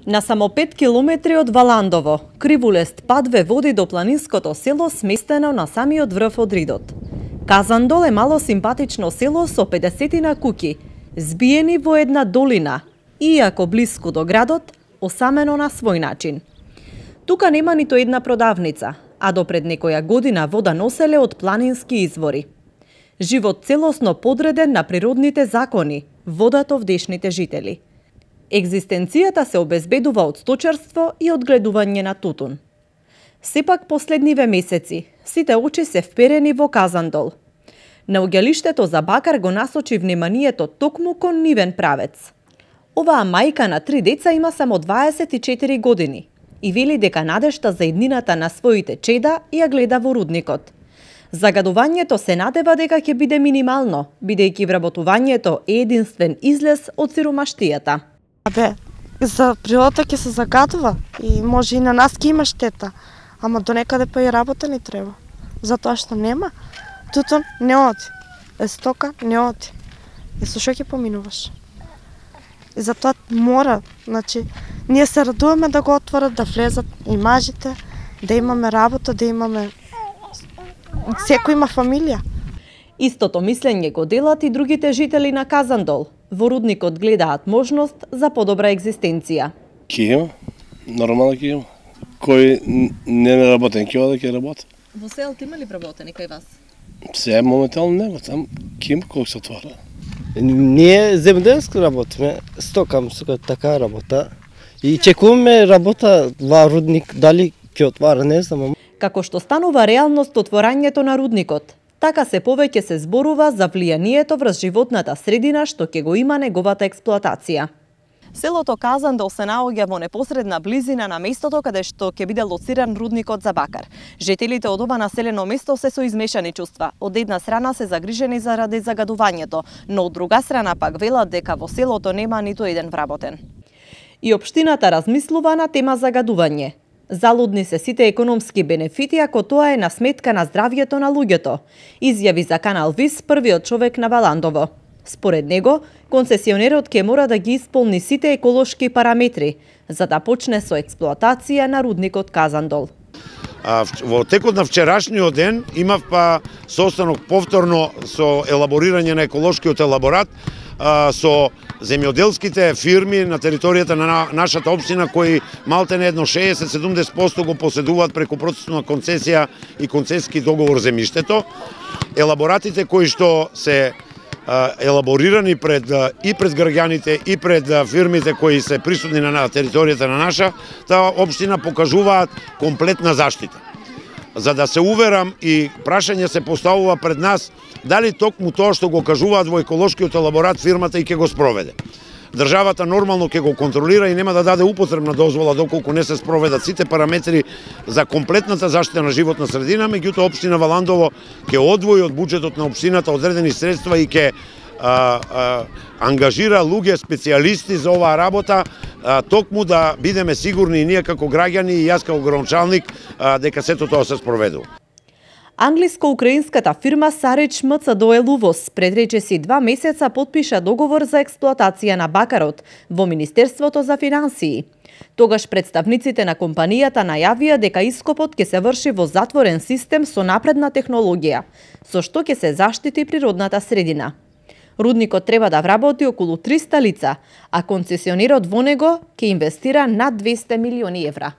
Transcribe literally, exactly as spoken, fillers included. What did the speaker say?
На само пет километри од Валандово, кривулест пат ве води до планинското село сместено на самиот врв од Ридот. Казандол е мало симпатично село со педесетина куќи, збиени во една долина, иако блиску до градот, осамено на свој начин. Тука нема нито една продавница, а до пред некоја година вода носеле од планински извори. Живот целосно подреден на природните закони, водат овдешните жители. Екзистенцијата се обезбедува од сточарство и одгледување на тутун. Сепак последниве месеци, сите очи се вперени во Казандол. Наоѓалиштето за бакар го насочи вниманието токму кон нивен правец. Оваа мајка на три деца има само дваесет и четири години и вели дека надежта за иднината на своите чеда ја гледа во рудникот. Загадувањето се надева дека ќе биде минимално, бидејќи вработувањето е единствен излез од сиромаштијата. Абе, за природата ќе се загадува и може и на нас ќе има штета, ама до некаде па и работа ни треба. Затоа што нема, тутун не оди, е стока не оди. И со што ќе поминуваш? И затоа мора, значи, ние се радуваме да го отворат, да влезат и мажите, да имаме работа, да имаме... Секој има фамилија. Истото мислење го делат и другите жители на Казандол. Во рудникот гледаат можност за подобра екзистенција. Ке има, нормално ке има. Кој не е работен, ке оде ке работи. Во селото има ли вработени кај вас? Се моментално нема, там ке има колку се отвара. Ние земјоделски работиме, стокам со така работа и чекуваме работа во рудник, дали ќе отвара, не знам. Како што станува реалност отворањето на рудникот, така се повеќе се зборува за влијанието врз животната средина што ќе го има неговата експлоатација. Селото Казандол се наоѓа во непосредна близина на местото каде што ќе биде лоциран рудникот за бакар. Жителите од ова населено место се со измешани чувства. Од една страна се загрижени заради загадувањето, но од друга страна пак велат дека во селото нема ниту еден вработен. И општината размислува на тема загадување. Залудни се сите економски бенефити ако тоа е на сметка на здравјето на луѓето, изјави за Канал Вис првиот човек на Валандово. Според него, концесионерот ќе мора да ги исполни сите еколошки параметри, за да почне со експлоатација на рудникот Казандол. А, во текот на вчерашниот ден имав па состанок повторно со елаборирање на еколошкиот елаборат а, со земјоделските фирми на територијата на нашата општина кои малте не едно шеесет до седумдесет проценти го поседуваат преку процесот на концесија и концесиски договор земјиштето. Елаборатите кои што се елаборирани пред и пред граѓаните и пред фирмите кои се присутни на територијата на нашата општина покажуваат комплетна заштита. За да се уверам и прашање се поставува пред нас дали токму тоа што го кажуваат во еколошкиот елаборат фирмата и ќе го спроведе. Државата нормално ќе го контролира и нема да даде употребна дозвола доколку не се спроведат сите параметри за комплетната заштита на животна средина, меѓутоа општина Валандово ќе одвои од буџетот на општината одредени средства и ќе а, а, ангажира луѓе специјалисти за оваа работа, а, токму да бидеме сигурни и ние како граѓани и јас како градоначалник дека сето тоа се спроведува. Англиско-украинската фирма Сарич МЦДОЛ УВОЗ пред речиси два месеца потпиша договор за експлоатација на бакарот во Министерството за финансии. Тогаш представниците на компанијата најавија дека ископот ќе се врши во затворен систем со напредна технологија, со што ќе се заштити природната средина. Рудникот треба да вработи околу триста лица, а концесионерот во него ќе инвестира над двесте милиони евра.